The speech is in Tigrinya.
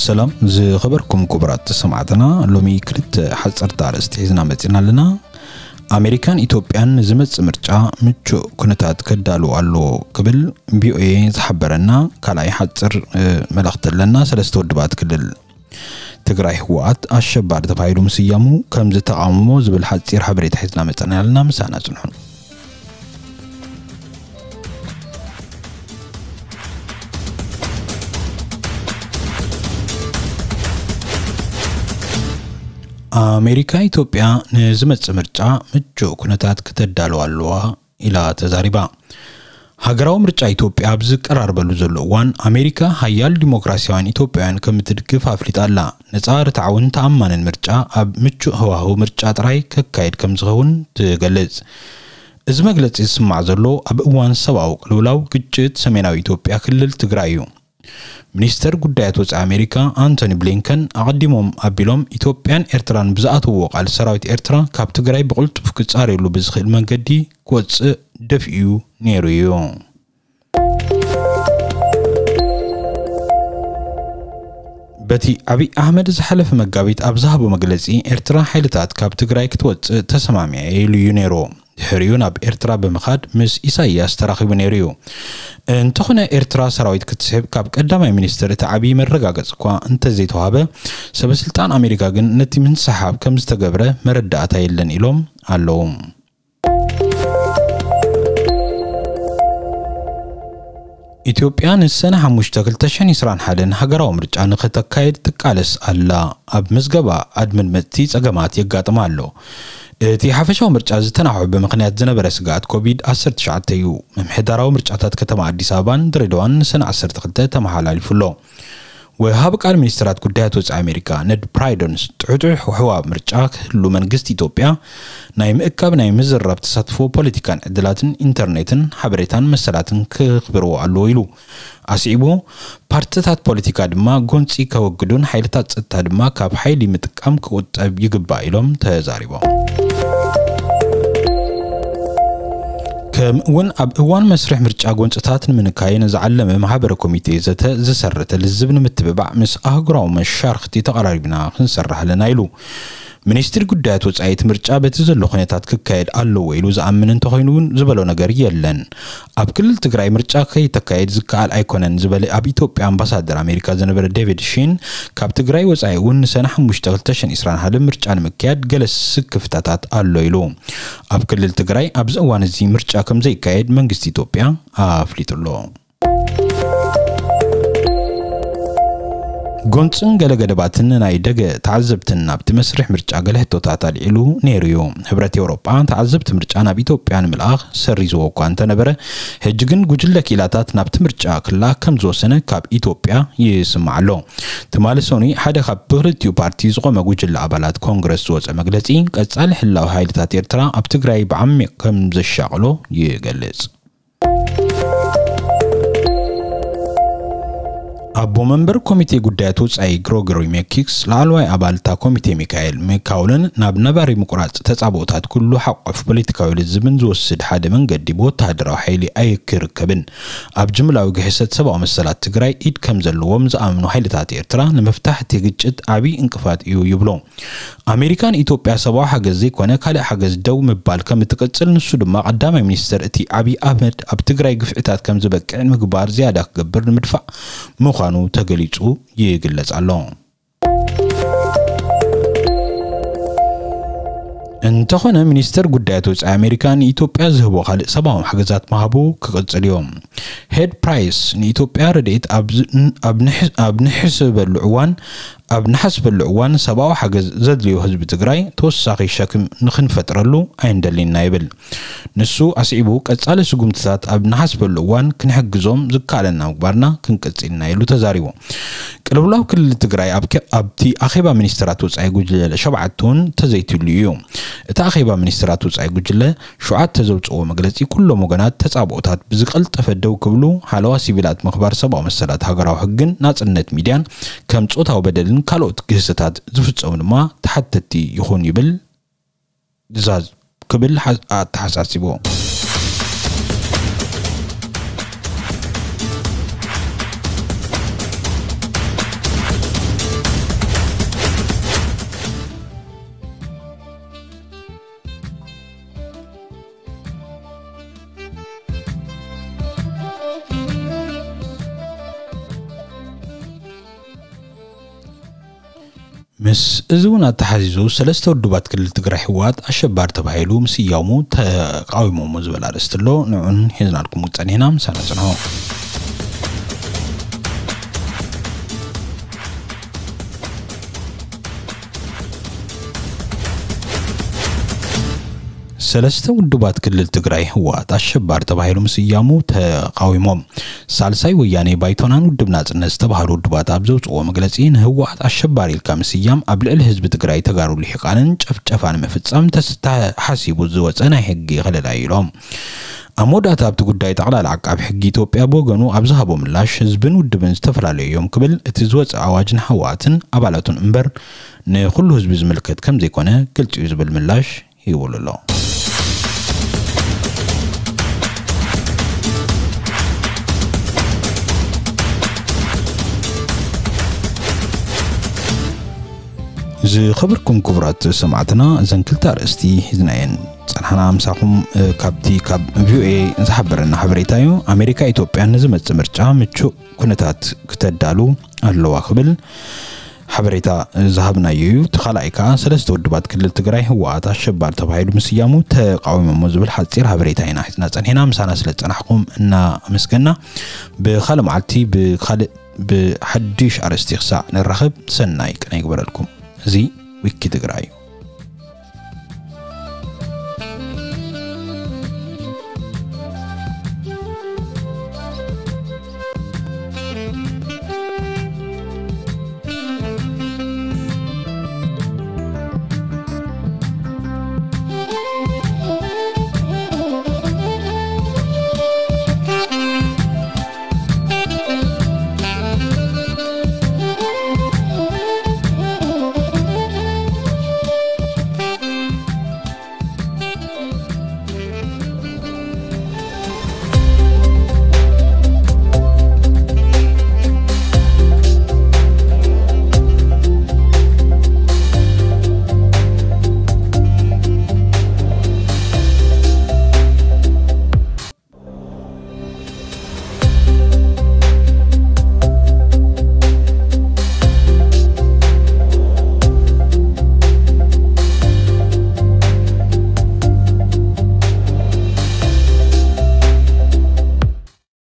ሰላም ዝኸበርኩም ክቡራት ሰማዕትና፣ ሎሚ ክልተ ሓጸርቲ ኣርእስቲ ሒዝና መጺና ኣለና። ኣሜሪካን ኢትዮጵያን ንዝመጽእ ምርጫ ምቹእ ኩነታት ከዳሉ ኣሎ ክብል ቪኦኤ ዝሓበረና ካልኣይ ሓጽር፣ እ፣ መልእኽቲ ኣለና። ሰለስተ ውድባት ክልል ትግራይ ህወሓት ኣሸባሪ ተባሂሉ ምስያሙ ከም ዝተቓወሞ ዝብል ሓጺር ሓበሬታ ሒዝና መጸና ኣለና። ምሳና ጽንሑ። ኣሜሪካ ኢትዮጵያ ንዝመጽእ ምርጫ ምቹእ ኩነታት ክተዳልዋ ኣለዋ ኢላ ተዛሪባ። ሃገራዊ ምርጫ ኢትዮጵያ ኣብ ዝቀራርበሉ ዘሎ እዋን ኣሜሪካ ሓያል ዲሞክራሲያውያን ኢትዮጵያውያን ከም እትድግፍ ኣፍሊጣ ኣላ። ነጻ፣ ርትዓውን ተኣማንን ምርጫ ኣብ ምቹእ ህዋህው ምርጫ ጥራይ ከካየድ ከም ዝኸውን ትገልጽ። እዚ መግለጺ ዝስማዕ ዘሎ ኣብ እዋን ሰብኣዊ ቅልውላው ግጭት ሰሜናዊ ኢትዮጵያ ክልል ትግራይ እዩ። ሚኒስተር ጉዳያት ወጻኢ ኣሜሪካ ኣንቶኒ ብሊንከን ኣቐዲሞም ኣቢሎም ኢትዮጵያን ኤርትራን ብዝኣተውዎ ቃል ሰራዊት ኤርትራ ካብ ትግራይ ብቕልጡፍ ክጻረየሉ ብዝኽእል መንገዲ ክወጽእ ደፊኡ ነይሩ እዩ። በቲ ኣብይ ኣሕመድ ዝሓለፈ መጋቢት ኣብ ዝሃቦ መግለጺ፣ ኤርትራ ሓይልታት ካብ ትግራይ ክትወጽእ ተሰማሚዐ ኢሉ እዩ ነይሩ። ድሕሪኡ ናብ ኤርትራ ብምኻድ ምስ ኢሳይያስ ተራኺቡ ነይሩ እዩ። እንተኾነ ኤርትራ ሰራዊት ክትስሕብ ካብ ቀዳማይ ሚኒስትር እቲ ዓብዪ መረጋገጺ እኳ እንተዘይተዋህበ፣ ሰበስልጣን ኣሜሪካ ግን ነቲ ምንስሓብ ከም ዝተገብረ መረዳእታ የለን ኢሎም ኣለዉ። ኢትዮጵያ ንሰነ ሓሙሽተ ክልተ ሽሕን ዕስራን ሓደን ሃገራዊ ምርጫ ንኽተካየድ ትቃለስ ኣላ። ኣብ ምዝገባ ኣድመድመፅቲ ፀገማት የጋጥማ ኣሎ። እቲ ሓፈሻዊ ምርጫ ዝተናውሐ ብምኽንያት ዝነበረ ስግኣት ኮቪድ ዓሰርተ ትሽዓተ እዩ። ምምሕዳራዊ ምርጫታት ከተማ ኣዲስ ኣበባን ድሬዳዋን ንሰነ ዓሰርተ ክልተ ተመሓላሊፉ ኣሎ። ወሃቢ ቃል ሚኒስትራት ጉዳያት ወጻኢ ኣሜሪካ ነድ ፕራይዶንስ ጥሑጥሕ ውሕዋ ምርጫ ክህሉ መንግስቲ ኢትዮጵያ ናይ ምእካብ ናይ ምዝራብ ተሳትፎ ፖለቲካን ዕድላትን ኢንተርኔትን ሓበሬታን መሰላትን ክኽብርዎ ኣለዎ ኢሉ። ኣስዒቡ ፓርትታት ፖለቲካ ድማ ጎንፂ ከወግዱን ሓይልታት ጸጥታ ድማ ካብ ሓይሊ ምጥቃም ክቁጠብ ይግባእ ኢሎም ተዛሪቦም። ከምኡ እውን ኣብ እዋን መስርሕ ምርጫ ጎንፅታት ንምንካይ ንዝዓለመ ማሕበረ ኮሚቴ ዘተ ዝሰረተ ልዝብ ንምትብባዕ ምስ ኣህጉራዊ መሻርክቲ ተቐራሪብና ክንሰርሕ ኣለና ኢሉ። ሚኒስትሪ ጉዳያት ወጻኢ እቲ ምርጫ በቲ ዘሎ ኩነታት ክካየድ ኣለዎ ኢሉ ዝኣምን እንተኾይኑ እውን ዝበሎ ነገር የለን። ኣብ ክልል ትግራይ ምርጫ ከይተካየድ ዝከኣል ኣይኮነን ዝበለ ኣብ ኢትዮጵያ ኣምባሳደር ኣሜሪካ ዝነበረ ዴቪድ ሺን፣ ካብ ትግራይ ወጻኢ እውን ንሰነ ሓሙሽተ ክልተ ሽሕን ዕስራን ሓደ ምርጫ ንምክያድ ገለ ስክፍታታት ኣሎ ኢሉ። ኣብ ክልል ትግራይ ኣብዚ እዋን እዚ ምርጫ ከም ዘይካየድ መንግስቲ ኢትዮጵያ ኣፍሊጡ ኣሎ። ጎንፅን ገለ ገደባትን ናይ ደገ ተዓዘብትን ናብቲ መስርሕ ምርጫ ገለ ሕቶታት ኣልዒሉ ነይሩ እዩ። ሕብረት ኤውሮጳ ተዓዘብቲ ምርጫ ናብ ኢትዮጵያ ንምልኣኽ ሰሪዝዎ እኳ እንተነበረ፣ ሕጂ ግን ጉጅለ ክኢላታት ናብቲ ምርጫ ክለኣኽ ከም ዝወሰነ ካብ ኢትዮጵያ ይስማዕ ኣሎ። ትማሊ ሰኑይ ሓደ ካብ ብክልቲኡ ፓርቲ ዝቖመ ጉጅለ ኣባላት ኮንግረስ ዝወፀ መግለፂ፣ ቀፃሊ ህላዊ ሓይልታት ኤርትራ ኣብ ትግራይ ብዓሚቕ ከም ዘሻቕሎ ይገልጽ። ኣቦ መንበር ኮሚቴ ጉዳያት ወጻኢ ግሮጎሪ ሜኪክስ፣ ላዕለዋይ ኣባል እታ ኮሚቴ ሚካኤል ሚካውልን ናብ ነባሪ ምቁራጽ ተጻብኦታት ኩሉ ሓቆፍ ፖለቲካዊ ልዝብን ዝወስድ ሓደ መንገዲ ብወተሃደራዊ ሓይሊ ኣይክርከብን፣ ኣብ ጅምላዊ ግህሰት ሰብኣዊ መሰላት ትግራይ ኢድ ከም ዘለዎም ዝኣምኑ ሓይልታት ኤርትራ ንምፍታሕ እቲ ግጭት ዓቢ እንቅፋት እዩ ይብሉ። ኣሜሪካ ንኢትዮጵያ ሰብኣዊ ሓገዝ ዘይኮነ ካልእ ሓገዝ ደው ምባል ከም እትቅጽል፣ ንሱ ድማ ቀዳማይ ሚኒስትር እቲ ዓብዪ ኣህመድ ኣብ ትግራይ ግፍዕታት ከም ዝበቅዕ ምግባር ዝያዳ ክገብር ንምድፋእ ምዃኑ ተገሊጹ ይግለጽ ኣሎ። እንተኾነ ሚኒስተር ጉዳያት ወጻኢ ኣሜሪካ ንኢትዮጵያ ዝህቦ ካልእ ሰብኣዊ ሓገዛት ምሃቡ ክቕጽል እዮም። ሄድ ፕራይስ ንኢትዮጵያ ረድኤት ኣብ ዝ-፣ ኣብ ንሕ-፣ ኣብ ንሕስበሉ እዋን ኣብ ንሓስበሉ እዋን ሰብኣዊ ሓገዝ ዘድልዮ ህዝቢ ትግራይ ተወሳኺ ሸክም ንኽንፈጥረሉ ኣይንደሊና ይብል። ንሱ ኣስዒቡ ቀጻሊ ስጉምትታት ኣብ ንሓስበሉ እዋን ክንሕግዞም ዝከኣለና ምግባርና ክንቅጽልና ኢሉ ተዛሪቡ። ቅልውላው ክልል ትግራይ ኣብ ከ-፣ ኣብቲ ኣኼባ ሚኒስትራት ወጻኢ ጉጅለ ሸውዓተ እውን ተዘይትሉ እዩ። እቲ ኣኼባ ሚኒስትራት ወጻኢ ጉጅለ ሸውዓተ ዘውፅኦ መግለፂ ኩሎም ወገናት ተፃብኦታት ብዝቀልጠፈ ደው ክብሉ፣ ሓለዋ ሲቪላት ምኽባር ሰብኣዊ መሰላት ሃገራዊ ሕግን ናፅነት ሚድያን ከም ፆታዊ በደልን ካልኦት ግህሰታት ዝፍፀሙ ድማ ተሓተቲ ይኹን ይብል ትእዛዝ ክብል ሓ-፣ ኣተሓሳሲቡ። ምስ እዚ እውን ኣተሓዚዙ ሰለስተ ውድባት ክልል ትግራይ ህወሓት ኣሸባሪ ተባሂሉ ምስያሙ ተቃዊሞሞ ዝበል ኣርእስቲ ኣሎ። ንዑን ሒዝናልኩም ጸኒሕና፣ ምሳና ጽንሑ። ሰለስተ ውድባት ክልል ትግራይ ህወሓት ኣሸባሪ ተባሂሉ ምስያሙ ተቃዊሞም። ሳልሳይ ወያኔ፣ ባይቶናን ውድብ ናጽነት ዝተባሃሉ ውድባት ኣብ ዘውፅዎ መግለፂ፣ ንህወሓት ኣሸባሪ ኢልካ ምስያም ኣብ ልዕሊ ህዝቢ ትግራይ ተጋሩ ልሒቃንን ጨፍጨፋ ንምፍፃም ተስ- ተሓሲቡ ዝወፀ ናይ ሕጊ ከለላ እዩ ኢሎም። ኣብ መወዳእታ ኣብቲ ጉዳይ ጠቕላላ ዓቃቢ ሕጊ ኢትዮጵያ ብወገኑ ኣብ ዝሃቦ ምላሽ፣ ህዝብን ውድብን ዝተፈላለዩ እዮም ክብል፣ እቲ ዝወፀ ኣዋጅ ንህወሓትን ኣባላቱን እምበር ንኩሉ ህዝቢ ዝምልከት ከም ዘይኮነ ግልፂ እዩ ዝብል ምላሽ ሂቡሉ ኣሎ። ዝኸበርኩም ክቡራት ሰማዕትና፣ እዘን ክልተ ኣርእስቲ ሒዝናየን ጸንሓና ምሳኹም። እ፣ ካብቲ ካብ ቪኦኤ ዝሓበረና ሓበሬታ እዩ። ኣሜሪካ ኢትዮጵያ ንዝመጽእ ምርጫ ምቹእ ኩነታት ክተዳሉ ኣለዋ ክብል ሓበሬታ ዝሃብናዮ እዩ። እቲ ካልኣይ ከኣ ሰለስተ ውድባት ክልል ትግራይ ህወሓት ኣሸባሪ ተባሂሉ ምስያሙ ተቃዊሞሞ ዝብል ሓጺር ሓበሬታ ኢና ሒዝና ጸኒሕና። ምሳና ስለ ዝጸናሕኩም እናመስገና፣ ብኻልእ መዓልቲ ብኻልእ ብሓድሽ ኣርእስቲ ክሳዕ ንራኸብ፣ ሰናይ ቅነ ይግበረልኩም። እዚ ዊኪ ትግራይ እዩ።